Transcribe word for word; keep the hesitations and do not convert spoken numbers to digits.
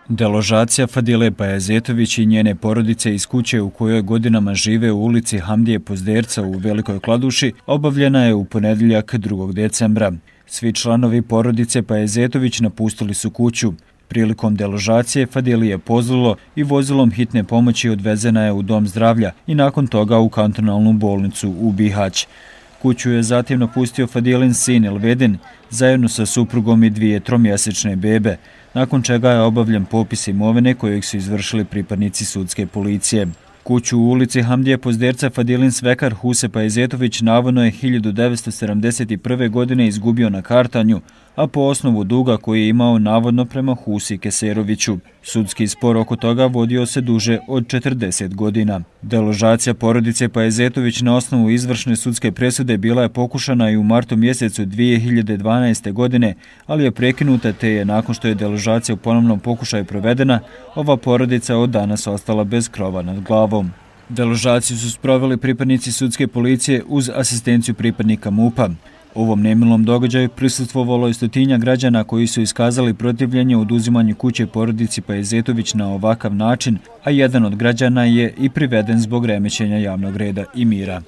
Deložacija Fadile Pajazetović i njene porodice iz kuće u kojoj godinama žive u ulici Hamdije Pozderca u Velikoj Kladuši obavljena je u ponedjeljak drugog decembra. Svi članovi porodice Pajazetović napustili su kuću. Prilikom deložacije Fadili je pozlilo i vozilom hitne pomoći odvezena je u dom zdravlja i nakon toga u kantonalnu bolnicu u Bihać. Kuću je zatim napustio Fadilin sin Elvedin zajedno sa suprugom i dvije tromjesečne bebe, nakon čega je obavljen popis imovine kojeg su izvršili pripadnici sudske policije. Kuću u ulici Hamdije Pozderca Fadilin svekar Huse Pajazetović navodno je hiljadu devetsto sedamdeset prve. godine izgubio na kartanju, a po osnovu duga koji je imao navodno prema Husi Keseroviću. Sudski spor oko toga vodio se duže od četrdeset godina. Deložacija porodice Pajazetović na osnovu izvršne sudske presude bila je pokušana i u martu mjesecu dvije hiljade dvanaeste. godine, ali je prekinuta te je nakon što je deložacija u ponovnom pokušaju provedena, ova porodica od danas ostala bez krova nad glavom. Deložaciju su sproveli pripadnici sudske policije uz asistenciju pripadnika MUP-a. Ovom nemilom događaju prisustvovalo je stotinja građana koji su iskazali protivljenje oduzimanju kuće porodici Pajazetović na ovakav način, a jedan od građana je i priveden zbog remećenja javnog reda i mira.